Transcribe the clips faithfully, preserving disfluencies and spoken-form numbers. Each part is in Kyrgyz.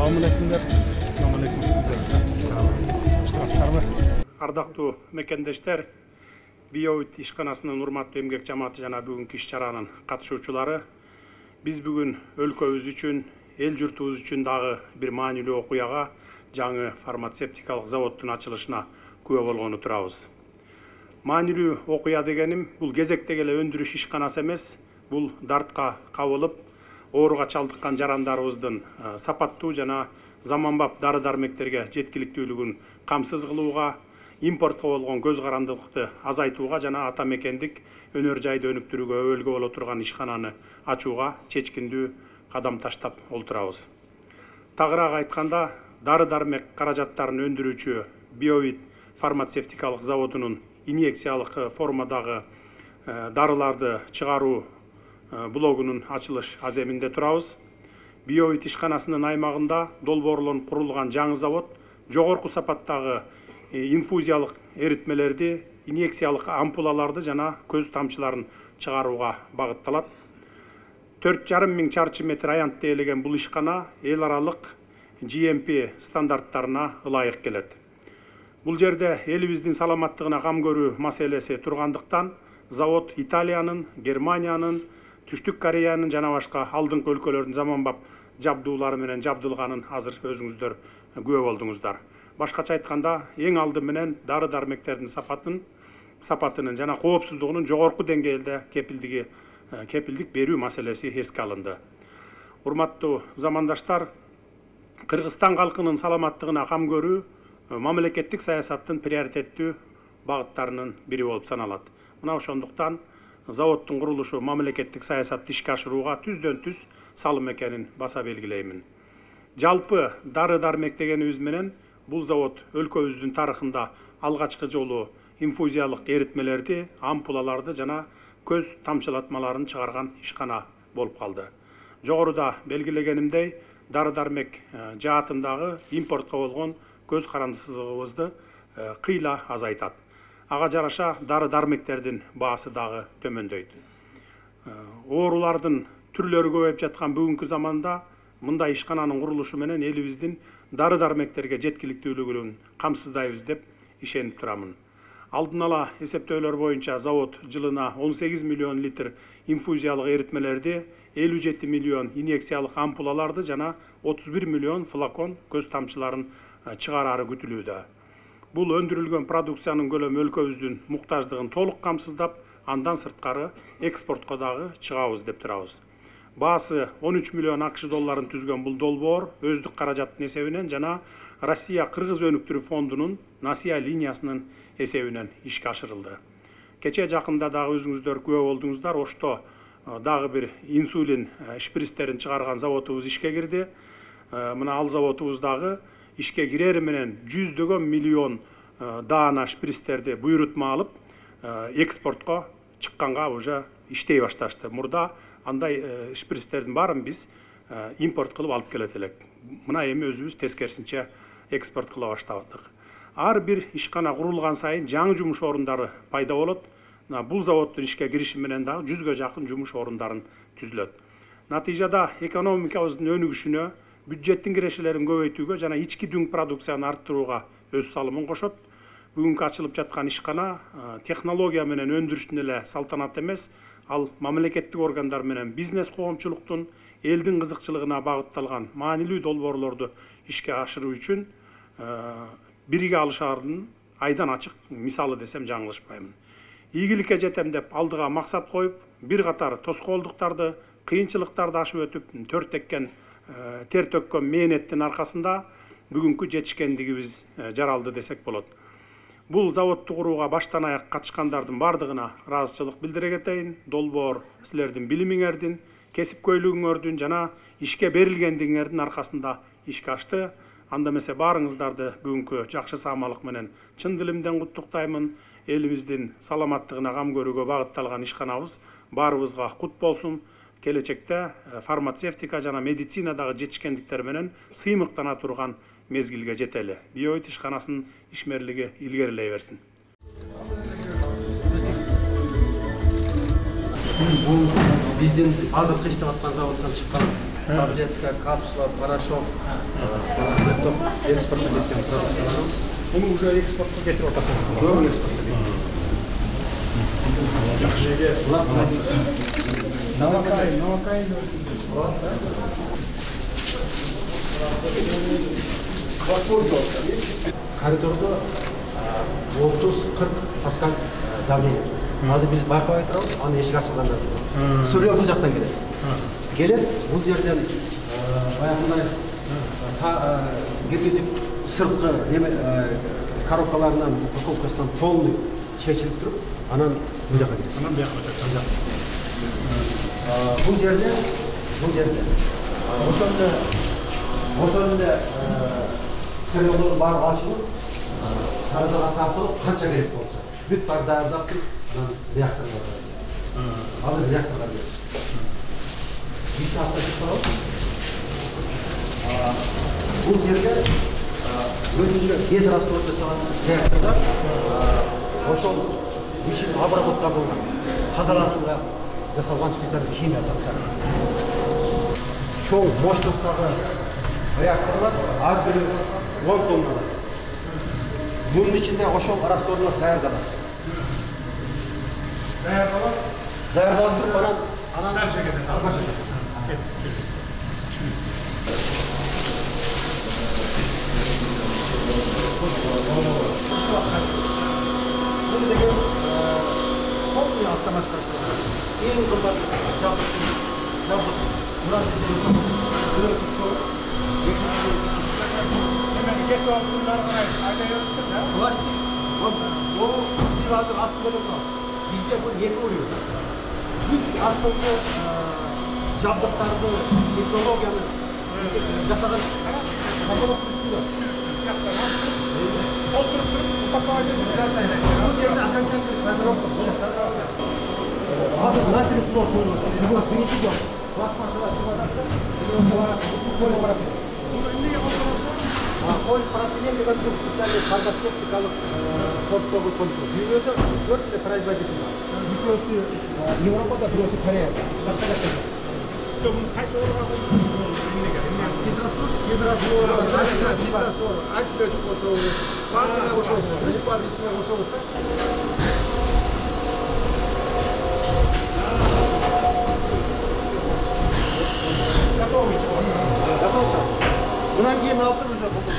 Салам алейкумдар. Салам алейкум. Салам. Ардактуу мекендештер, Биовит ишканасынын урматтуу эмгек жамааты жана бүгүнкү иш чаранын катышуучулары, биз бүгүн өлкөбүз үчүн, эл журтубуз үчүн дагы бир маанилүү окуяга, жаңы фармацевтикалык заводдун ачылышына күбө болгону турабыз. Маанилүү окуя дегеним бул кезектеги эле өндүрүш ишканасы эмес, бул дартка кабылып, ооруга чалдыккан жарандарыбыздын сапаттуу жана заманбап дары-дармектерге жеткиликтүүлүгүн камсыз кылууга, импортко болгон көз карандылыкты азайтууга жана ата мекендик өнөр жайды өнүктүрүүгө өбөлгө боло турган ишкананы ачууга чечкиндүү кадам таштап олтурабыз. Тагыраак айтканда, дары-дармек каражаттарын өндүрүүчү Биовит фармацевтикалык заводунун инъекциялык формадагы дарыларды чыгаруу блогунун ачылыш аземинде турабыз. Биовит ишканасынын аймагында долбоорлонуп курулган жаңы завод жогорку сапаттагы инфузиялык эритмелерди, инъекциялык ампулаларды жана көз тамчыларын чыгарууга багытталат. төрт жарым миң чарчы метр аянтты ээлеген бул ишкана эл аралык G M P стандарттарына ылайык келет. Бул жерде элибиздин саламаттыгына кам көрүү маселеси тургандыктан, завод Италиянын, Германиянын, Түштүк Кореянын жана башка алдыңкы өлкөлөрдүн заманбап жабдуулары менен жабдылганын азыр өзүңүздөр күбө болдуңуздар. Башкача айтканда, эң алды менен дары-дармектердин сапатын, сапатынын жана коопсуздугунун жогорку деңгээлде кепилдиги кепилдик берүү маселеси эске алынды. Урматтуу замандаштар, Кыргызстан калкынын саламаттыгына кам көрүү мамлекеттик саясаттын приоритеттүү багыттарынын бири болуп саналат. Мына ошондуктан заводдун курулушу мамлекеттик саясатты ишке ашырууга түздөн түз салым экенин баса белгилеймин. Жалпы дары-дармек дегенибиз менен бул завод өлкөбүздүн тарыхында алгачкы жолу инфузиялык эритмелерди, ампулаларды жана көз тамчылатмаларын чыгарган ишкана болуп калды. Жогоруда белгилегенимдей, дары-дармек жаатындагы импортко болгон көз карандысыздыгыбызды кыйла азайтат. Ага жараша дары-дармектердин баасы дагы төмөндөйт. Оорулардын түрлөрү көбөйүп жаткан бүгүнкү заманда мындай ишкананын курулушу менен элибиздин дары-дармектерге жеткиликтүүлүгүн камсыздайбыз деп ишенип турамын. Алдын ала эсептөөлөр боюнча завод жылына он сегиз миллион литр инфузиялык эритмелерди, элүү жети миллион инъекциялык ампулаларды жана отуз бир миллион флакон көз тамчыларын чыгарары күтүлүүдө. Бул өндүрүлгөн продукциянын көлөмү өлкөбүздүн муктаждыгын толук камсыздап, андан сырткары экспортко дагы чыгабыз деп турабыз. Баасы он үч миллион акш долларын түзгөн бул долбоор өздүк каражаттын эсебинен жана Россия Кыргыз өнүктүрүү фондунун Насия линиясынын эсебинен ишке ашырылды. Кече жакында дагы өзүңүздөр күбө болдуңуздар, Ошто дагы бир инсулин шприцтерин чыгарган заводубуз ишке кирди. Мына ал заводубуз дагы ишке кирери менен жүздөгөн миллион даана шприцтерди буйрутма алып, экспортко чыкканга уже иштей башташты. Мурда андай шприцтердин баарын биз импорт кылып алып келет элек. Мына эми өзүбүз тескерисинче экспорт кыла баштадык. Ар бир ишкана курулган сайын жаңы жумуш орундары пайда болот. Бул заводдун ишке кириши менен дагы жүзгө жакын жумуш орундарын түзүлөт. Натыйжада экономикабыздын өнүгүшүнө, бюджеттин кирешелерин көбөйтүүгө жана ички дүң продукцияны арттырууга өз салымын кошот. Бүгүнкү ачылып жаткан ишкана технология менен өндүрүштүн эле салтанаты эмес, ал мамлекеттик органдар менен бизнес коомчулуктун элдин кызыкчылыгына багытталган маанилүү долбоорлорду ишке ашыруу үчүн бирге алышаардын айдан ачык мисалы десем жаңылышпаймын. Ийгиликке жетем деп алдыга максат коюп, бир катар тоскоолдуктарды, кыйынчылыктарды ашып өтүп, төр теккен, тер төккөн мээнеттин аркасында бүгүнкү жетишкендигибиз жаралды десек болот. Бул заводду курууга баштан аяк катышкандардын бардыгына ыраазычылык билдире кетейин. Долбоор силердин билимиңердин, кесипкөйлүгүңөрдүн жана ишке берилгендигиңердин аркасында ишке ашты. Анда эмесе баарыңыздарды бүгүнкү жакшы саамалык менен чын дилимден куттуктаймын. Элибиздин саламаттыгына кам көрүүгө багытталган ишканабыз баарыбызга кут болсун. Келечекте фармацевтика жана медицинадагы жетишкендиктер менен сыймыктана турган мезгилге жетели. Биовит ишканасынын ишмерлиги илгерилей берсин. Бул биздин азыркы иштеп аткан заводдон чыккан таблетка, капсула, порошок, экспортко кеткен продукцияларыбыз. Муну уже экспортко кетирип атасың. Көп экспортко кеткен. Новокаин, новокаин. Коридорда отуз кырк паскаль давление. Азыр биз байкабай турабыз, аны эшик ачылганда. Сүрөө бул жактан келет. Келет, бул жерден баягындай киргизип сырткы неме коробкаларынан, упаковкасынан полный чечилип туруп, анан бул жака келет. Анан бияка өтөт. Бул жерде, бул жерде ошондо ошондо сырыолор бар ачылып, таразага тартылып, канча керек болсо, бүт бар даярдап туруп, анан реакторго барат. Азыр реакторго берет. Бир апта чыкпайбы? Бул жерде өзүнчө тез раствор жасалган реакторда ошол ишин обработка кылган, тазалаганга жасалган специалдуу химия заттар. Чоң мощносттагы реакторлор ар бири он тонна. Мунун ичинде ошол растворлор даярдалат. Даярдалат. Даярдалып туруп анан анан Дальше кетет. Бул деген полный автоматика. Эң кымбат жабдык. Жабдык. Мурат деген бирөө чоң. Экинчи Эми кесип алып мундары карай айта бериптир да. пластик. Вот бул бир азыр астында турат. Бизде бул эки уруу. Бүт астыңкы жабдыктарды, технологияны жасаган капалак үстүндө. Олтуруп туруп упаковать этип жасайт. Бул жерде аканчалык кадровка жасалган. Азыр натриев плот коюлат. Бүгүн сүйүтүп жок. Пластмассалар чыгып атат да. Коюп барат. Муну эмнеге колдоносуңар? Коюп пропилен деген бул специалдуу фармацевтикалык сорттогу контур. Дүйнөдө төрт эле производитель бар. Үчөөсү Европада, бирөөсү Кореяда. Башка жакта жок. Жок, муну кайсы орунга коюп? Эмнеге? Израствор, израствор, израствор, антибиотик кошобуз. Баардыгына кошобуз. Бүт баардыгын ичине кошобуз да. Готовый. Готово. Мындан кийин алып туруп уже болду.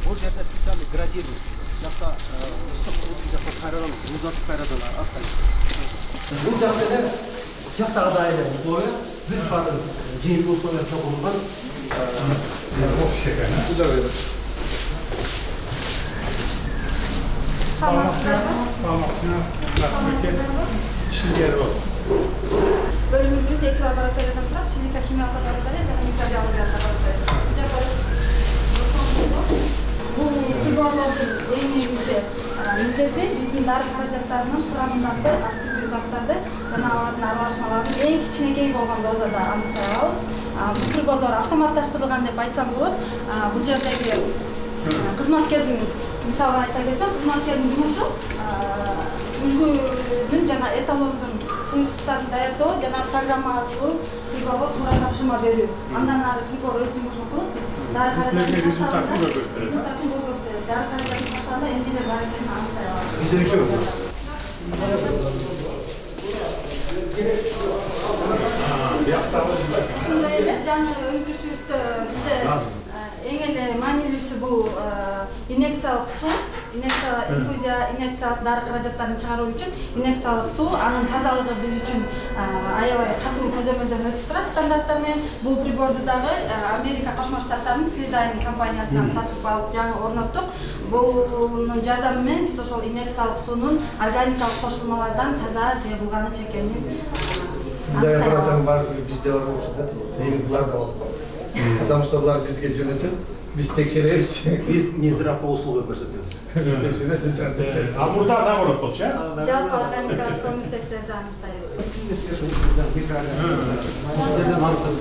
Бул жерде специальный градирующий. Жакта ысык сууну жакта кайрадан музатып кайрадан аттайт. Бул жакта эле жактагыдай эле условия, бүт баардыгы жыйынтык условия чогулган. Саламатсыздар. Саламатсыздар. Здравствуйте. Işinler olsun. Bölümümüz ek laboratuvardan turib, fizika, kimyo laboratoriya va mikrobiologiya laboratoriya. Бул приборлордун эң негизги милдети биздин дары каражаттарынын курамындагы активдүү заттарды жана алардын аралашмаларын эң кичинекей болгон дозада аныктай алабыз. Бул приборлор автоматташтырылган деп айтсам болот. Бул жердеги кызматкердин мисалга айта кетсем, кызматкердин жумушу үлгүнүн жана эталондун суюктуктарын даярдоо жана программа аркылуу приборго туура тапшырма берүү. Андан ары прибор өз жумушун кылып, биз дары Силерге результатын көрсөтүп берет. Результатын көрсөтүп берет. Дары каражаттын сатында эмнелер бар экенин аныктай алабыз. Бизде үчөө. Ушундай эле жаңы өндүрүшүбүздө бизде эң эле маанилүүсү бул инъекциялык суу, инфузия, инъекциялык дары каражаттарын чыгаруу үчүн инъекциялык суу, анын тазалыгы биз үчүн аябай катуу көзөмөлдөн өтүп турат стандарттар менен. Бул приборду дагы Америка Кошмо Штаттарынын Слидайн компаниясынан сатып алып жаңы орноттук. Бунун жардамы менен биз ошол инъекциялык суунун органикалык кошулмалардан таза жыйылганы чекенин Мындай аппараттар бар, бизде бар болушу да. Эми булар да бар. Потому что булар бизге жөнөтүп, биз текшеребиз. Биз незиракка услуга көрсөтөбүз. Биз текшеребиз, текшеребиз. А мурда наоборот болчу, э? жалпы органикалык комитеттерди аныктайбыз. Ушул жерден аныктап